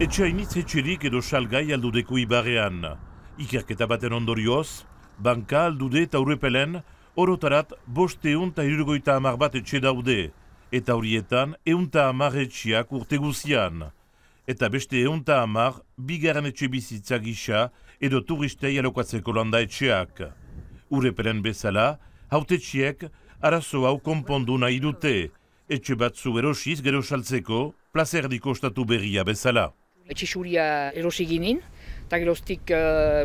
Etxainitz etxerik edo salgai aldudeko ibarrean. Ikerketa baten ondorioz, banka aldude eta urrepelen, orotarat 570 bat etxe daude, eta horietan 110 etxeak urte guzian. Eta beste 110 bigarren etxe bizitza gisa edo turistei alokatzeko landa etxeak. Urrepelen bezala, hautetxiek arazo hau konpondu nahi dute, etxe batzu erosiz gero saltzeko, plazerdiko ostatu berria bezala. Etxe xuria erosi ginen, eta geroztik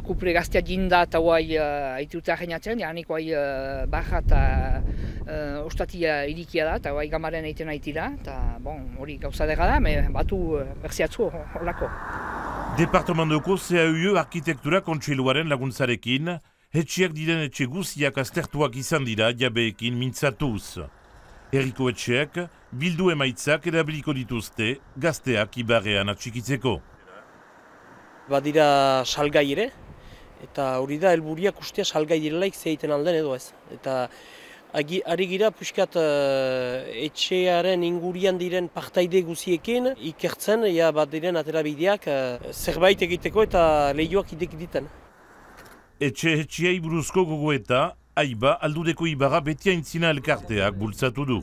kuple gaztea jinda eta guai haituta ahenatzen, janik guai baja eta ostatia irikia da, eta guai gamaren egiten haitira, eta hori gauza dega da, batu berziatzu horlako. Departamendoko CAUE arkitektura kontseiluaren laguntzarekin, etxeak diren etxe guziak aztertuak izan dira jabeekin mintzatuz. Herriko etxeak bildu emaitzak erabiliko dituzte gazteak ibarrean atxikitzeko. Badira salgai ere, eta hori da helburiak ustea salgai direlaik zeiten alden edo ez. Eta ari gira puskat etxearen ingurian diren partaide guziekin ikertzen, bat diren aterabideak zerbait egiteko eta lehioak idek diten. Etxeei buruzko gogoeta, aiba aldudeko ibarra beti aintzina elkarteak bultzatu du.